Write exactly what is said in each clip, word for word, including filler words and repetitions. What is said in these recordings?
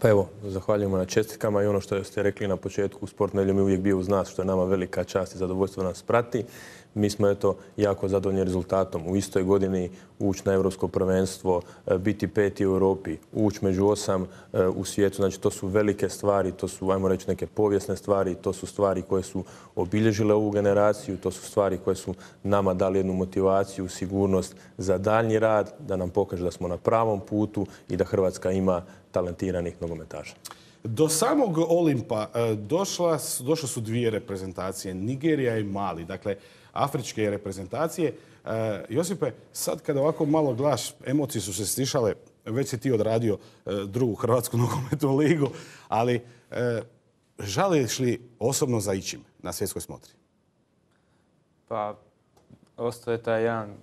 Pa evo, zahvaljujemo na čestitkama i ono što ste rekli na početku, Sport nedjeljom je uvijek bio uz nas, što je nama velika čast i zadovoljstvo nas prati. Mi smo eto jako zadovoljni rezultatom. U istoj godini ući na Europsko prvenstvo, biti peti u Europi, ući među osam u svijetu. Znači to su velike stvari, to su, ajmo reći, neke povijesne stvari, to su stvari koje su obilježile ovu generaciju, to su stvari koje su nama dali jednu motivaciju, sigurnost za daljnji rad, da nam pokaže da smo na pravom putu i da Hrvatska ima talentiranih nogometaša. Do samog Olimpa došla, došle su dvije reprezentacije, Nigerija i Mali, dakle afričke reprezentacije. Josipe, sad kada ovako malo gledaš, emocije su se stišale, već si ti odradio drugu Hrvatsku nogometnu ligu, ali žališ li osobno za ičim na svjetskoj smotri? Pa, ostaje taj jedan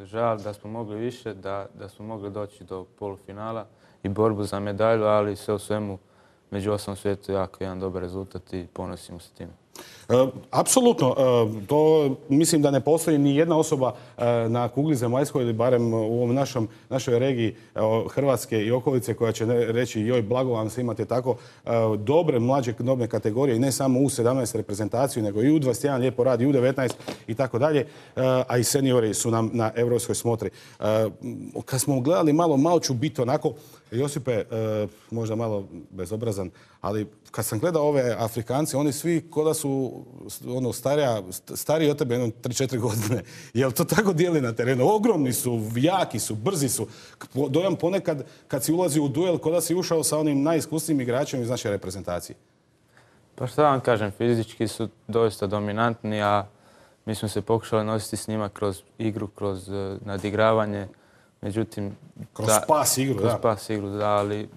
žal da smo mogli više, da, da smo mogli doći do polufinala i borbu za medalju, ali sve u svemu među osam svijetu jako jedan dobar rezultat i ponosimo se time. E, apsolutno. E, to mislim da ne postoji ni jedna osoba e, na kugli zemaljskoj ili barem u ovom našom, našoj regiji e, Hrvatske i okolice koja će ne, reći joj, blago vam se, imate tako e, dobre mlađe dobne kategorije i ne samo u sedamnaest reprezentaciju, nego i u dvadeset jedan lijepo radi, i u devetnaest i tako dalje, a i seniori su nam na europskoj smotri. E, kad smo gledali malo, malo ću biti onako, Josipe, e, možda malo bezobrazan, ali kad sam gledao ove Afrikance, oni svi ko da su ono, starija, stariji od tebe jedno tri četiri godine. Jel to tako dijeli na terenu? Ogromni su, jaki su, brzi su. Dojam ponekad kad si ulazi u duel, ko da si ušao sa onim najiskusnijim igračem iz naše reprezentacije. Pa što vam kažem, fizički su doista dominantni, a mi smo se pokušali nositi s njima kroz igru, kroz uh, nadigravanje. Međutim, kroz ta, pas igru, kroz da. pas igru, da, ali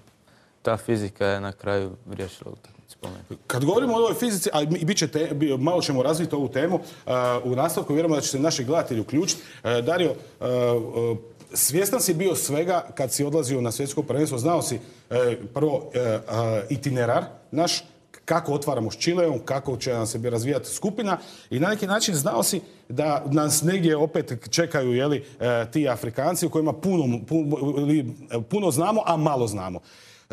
ta fizika je na kraju riješila utakmicu. Kad govorimo o ovoj fizici, a bit će te, malo ćemo razviti ovu temu, uh, u nastavku vjerujemo da će se naši gledatelji uključiti. Uh, Dario, uh, uh, svjestan si bio svega kad si odlazio na svjetsko prvenstvo, znao si uh, prvo uh, uh, itinerar naš, kako otvaramo s Čileom, kako će nam se razvijati skupina i na neki način znao si da nas negdje opet čekaju, jeli, ti Afrikanci u kojima puno, puno, puno znamo, a malo znamo.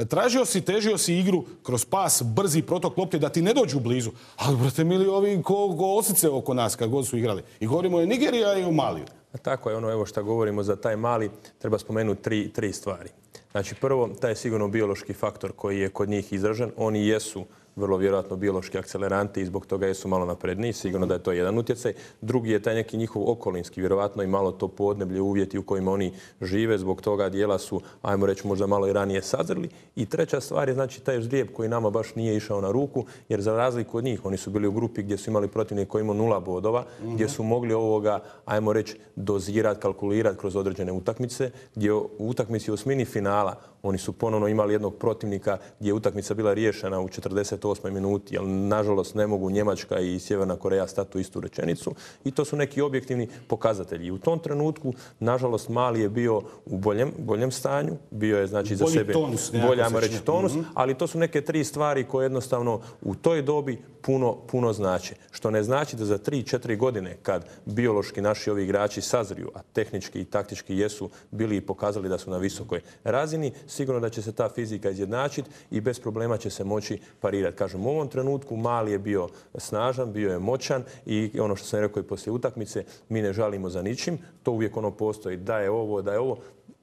Tražio si, težio si igru kroz pas, brzi protok lopte da ti ne dođu blizu. Ali, brate mili, ovi ko, ko osice oko nas kad god su igrali. I govorimo i Nigerija i o Maliju. Tako je, ono evo što govorimo za taj Mali, treba spomenuti tri, tri stvari. Znači prvo, taj je sigurno biološki faktor koji je kod njih izražen. Oni jesu vrlo vjerojatno biološki akceleranti i zbog toga jesu malo napredniji. Sigurno da je to jedan utjecaj. Drugi je taj neki njihov okolinski, vjerojatno i malo to podneblje, uvjeti u kojima oni žive. Zbog toga dijela su, ajmo reći, možda malo i ranije sazreli. I treća stvar je znači taj ždrijeb koji nama baš nije išao na ruku, jer za razliku od njih, oni su bili u grupi gdje su imali protivnik koji imao nula bodova, mm-hmm. gdje su mogli ovoga, ajmo reći, dozirati, kalkulirati kroz određene utakmice, gdje u utakmici u osmini finala oni su ponovno imali jednog protivnika gdje je utakmica bila riješena u četrdeset osmoj minuti, jer nažalost ne mogu Njemačka i Sjeverna Koreja stati u istu rečenicu. I to su neki objektivni pokazatelji. I u tom trenutku, nažalost, Mali je bio u boljem, boljem stanju. Bio je, znači, za bolji sebe tonus, bolje, ajmo reći, tonus. Mm-hmm. Ali to su neke tri stvari koje jednostavno u toj dobi puno, puno znače. Što ne znači da za tri četiri godine, kad biološki naši ovi igrači sazriju, a tehnički i taktički jesu bili i pokazali da su na visokoj razini, sigurno da će se ta fizika izjednačiti i bez problema će se moći parirati. Kažem, u ovom trenutku Mali je bio snažan, bio je moćan i ono što sam rekao i poslije utakmice, mi ne žalimo za ničim. To uvijek ono postoji da je ovo, da je ovo.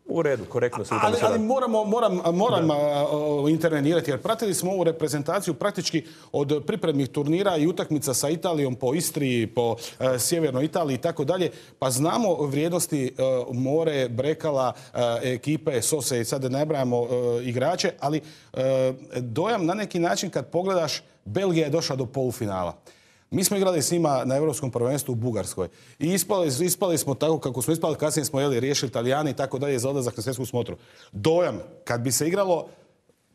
U redu, korektno se ali, ali moramo, moram, moram intervenirati jer pratili smo ovu reprezentaciju praktički od pripremnih turnira i utakmica sa Italijom po Istriji, po uh, sjevernoj Italiji i tako dalje. Pa znamo vrijednosti uh, More, Brekala, uh, ekipe, Sose i sad ne nabrajamo uh, igrače, ali uh, dojam na neki način kad pogledaš, Belgija je došla do polufinala. Mi smo igrali s njima na Europskom prvenstvu u Bugarskoj. I ispali, ispali smo tako kako smo ispali, kasnije smo jeli, riješili Italijani i tako dalje za odlazak na svjetsku smotru. Dojam, kad bi se igralo,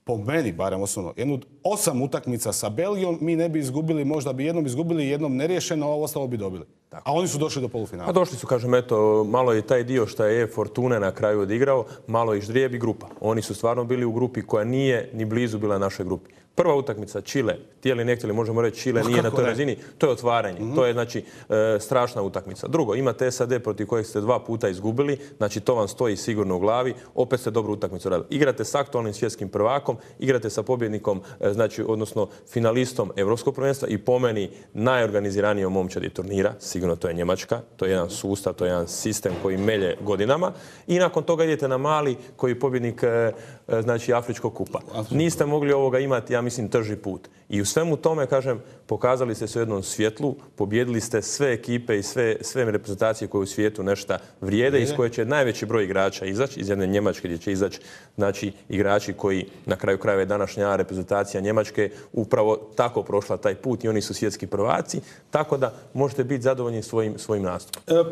po meni barem osobno, jednu osam utakmica sa Belgijom, mi ne bi izgubili, možda bi jednom izgubili, jednom neriješeno, a ovo ostalo bi dobili. Tako. A oni su došli do polufinala. A došli su, kažem, eto, malo je taj dio što je Fortuna na kraju odigrao, malo i ždrijeb i grupa. Oni su stvarno bili u grupi koja nije ni blizu bila našoj grupi. Prva utakmica, Čile, htjeli ne htjeli, možemo reći Čile nije na toj razini, to je otvaranje, to je znači e, strašna utakmica. Drugo, imate S A D protiv kojeg ste dva puta izgubili, znači to vam stoji sigurno u glavi, opet ste dobru utakmicu radili. Igrate s aktualnim svjetskim prvakom, igrate sa pobjednikom, e, znači odnosno finalistom Europskog prvenstva i po meni najorganiziranijom momčadi turnira, sigurno to je Njemačka, to je jedan sustav, to je jedan sistem koji melje godinama i nakon toga idete na Mali koji je pobjednik e, e, znači Afričkog kupa. Niste mogli ovoga imati, ja mislim, trži put. I u svemu tome, kažem, pokazali ste se u jednom svjetlu, pobjedili ste sve ekipe i sve, sve reprezentacije koje u svijetu nešto vrijede, iz koje će najveći broj igrača izaći, iz jedne Njemačke gdje će izaći znači, igrači koji na kraju krajeva je današnja reprezentacija Njemačke upravo tako prošla taj put i oni su svjetski prvaci, tako da možete biti zadovoljni svojim, svojim nastupom.